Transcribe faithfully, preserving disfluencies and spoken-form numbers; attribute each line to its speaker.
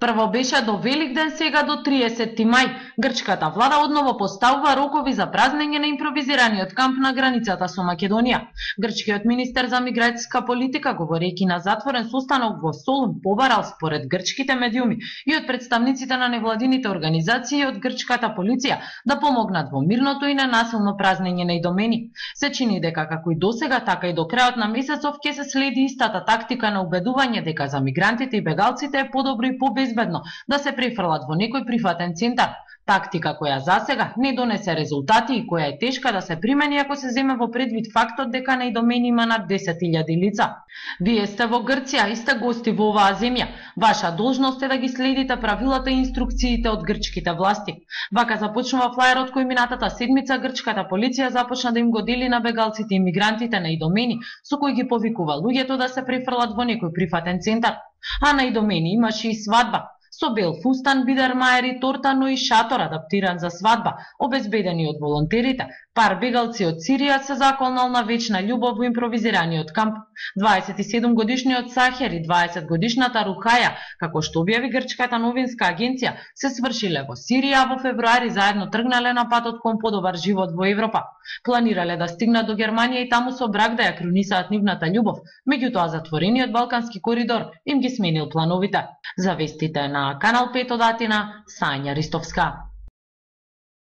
Speaker 1: Прво беше до Великден, сега до триесетти мај. Грчката влада одново поставува рокови за празнење на импровизираниот камп на границата со Македонија. Грчкиот министер за миграцијска политика, говорејќи на затворен состанок во Солун, побарал според грчките медиуми и од представниците на невладините организации и од грчката полиција да помогнат во мирното и ненасилно празнење на идомени. Се чини дека како и досега, така и до крајот на месецов ќе се следи истата тактика на убедување дека за мигрантите и бегалците е подобро и побезбедно да се префрлат во некој прифатен центар. Тактика која засега не донесе резултати и која е тешка да се примени ако се земе во предвид фактот дека на идомени има над десет илјади лица. Вие сте во Грција и сте гости во оваа земја. Ваша должност е да ги следите правилата и инструкциите од грчките власти. Вака започнува флаерот кој минатата седмица грчката полиција започна да им го дели на бегалците и мигрантите на идомени, со кој ги повикува луѓето да се префрлат во некој прифатен центар. А на идомени имаше и свадба. Со бел фустан, бидермаер и торта, но и шатор адаптиран за свадба, обезбедени од волонтерите. Пар бегалци од Сирија се заколнал на вечна љубов во импровизираниот камп. дваесет и седум годишниот Сахер и дваесет годишната Рухаја, како што објави грчката новинска агенција, се свршиле во Сирија, а во февруари заедно тргнале на патот кон подобар живот во Европа. Планирале да стигнат до Германија и таму со брак да ја крунисаат нивната љубов, меѓутоа затворениот балкански коридор им ги сменил плановите. За вестите на Канал пет од Атина, Сања Ристовска.